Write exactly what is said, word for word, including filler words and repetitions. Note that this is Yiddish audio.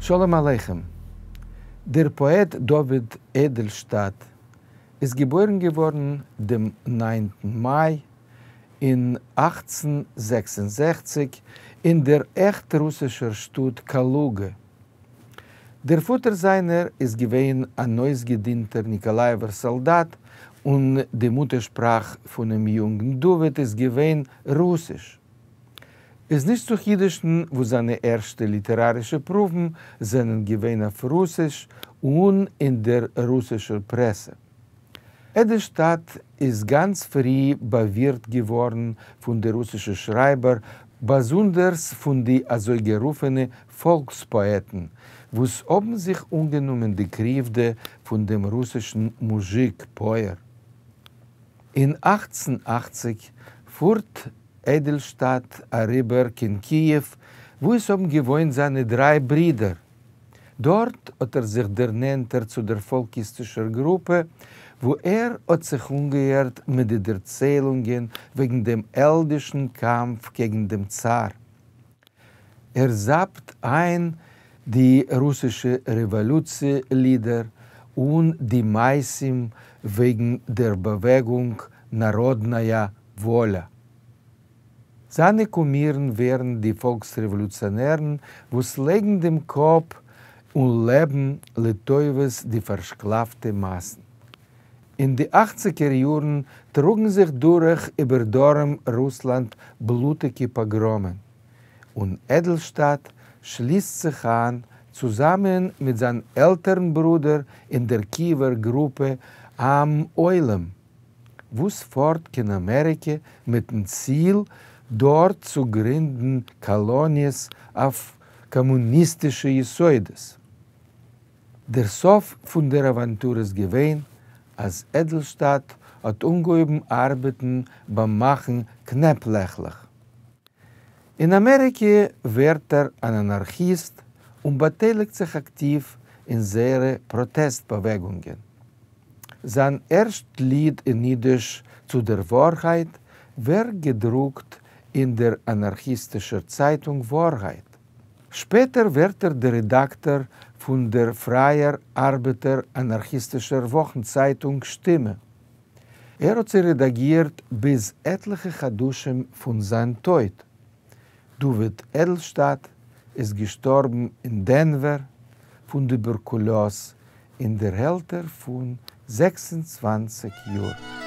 שלום עליכם. דער פּאָעט דוד עדעלשטאַט איז געבוירן געוואָרן דעם נײַנטן מײַ אין אַכצן זעקס און זעכציק אין דער עכט רוסישער שטאָט קאַלוגע. דער פֿאָטער זײַנער איז געווען אַן אויסגעדינטער ניקאָלאַיעווער סאָלדאַט, און די מוטערשפּראַך פֿונעם יונגן דוד איז געווען רוסיש. איז נישט צו חידושן, וואָס זײַנע ערשטע ליטעראַרישע פּרוּוון זענען געווען אויף רוסיש און אין דער רוסישער פּרעסע. עדעלשטאַט איז גאַנץ פֿרי באַווירט געוואָרן פֿון די רוסישע שרײַבער, באַזונדערס פֿון די אַזוי גערופֿענע פֿאָלקספּאָעטן, וואָס האָבן זיך אָנגענומען די קריוודע פֿון דעם רוסישן מוזשיק-פּויער. אין אַכצן אַכציק פֿאָרט עדעלשטאַט אַריבער קיין קיִעוו, וווּ עס האָבן געוואוינט זײַנע דרײַ ברידער. דאָרט האָט ער זיך דערנענטערט צו דער פֿאָלקיסטישער גרופּע, וווּ ער האָט זיך אָנגעהערט מיט די דערציילונגען וועגן דעם העלדישן קאַמף קעגן דעם צאַר. ער זאַפּט אײַן די רוסישע רעוואָלוציע-לידער און די מעשׂים וועגן דער באַוועגונג נאַראָדנאַיאַ וואָליאַ. זײַנע קומירן ווערן די פֿאָלקס-רעוואָלוציאָנערן, וואָס לייגן דעם קאָפּ און לעבן לטובֿת די פֿאַרשקלאַפֿטע מאַסן. אין די אַכציקער יאָרן טראָגן זיך דורך איבער דרום-רוסלאַנד בלוטיקע פּאָגראָמען, און עדעלשטאַט שליסט זיך אײַן צוזאַמען מיט זײַן עלטערן ברודער אין דער קיִעווער גרופּע עם עולם, וואָס פֿאָרט קיין אַמעריקע מיטן ציל דאָרט צו גרינדן קאָלאָניעס אויף קאָמוניסטישע יסודות. דער סוף פֿון דער אַוואַנטור איז געווען, אַז עדעלשטאַט האָט אָנגעהויבן אַרבעטן בײַם מאַכן קנעפּלעכלעך. אין אַמעריקע ווערט ער אַן אַנאַרכיסט און באַטייליקט זיך אַקטיוו אין זייערע פּראָטעסט-באַוועגונגען. זײַן ערשט ליד אין ייִדיש צו דער וואָרהייט ווערט געדרוקט אין דער אַנאַרכיסטישער צײַטונג וואָרהייט. שפּעטער ווערט ער דער רעדאַקטאָר פֿון דער פֿרײַער אַרבעטער-אַנאַרכיסטישער וואָכנצײַטונג שטימע. ער האָט זי רעדאַגירט ביז עטלעכע חדשים פֿון זײַן טויט. דוד עדעלשטאַט איז געשטאָרבן אין דענווער פֿון טובערקולאָז אין דער עלטער פֿון זעקס און צוואַנציק יאָר.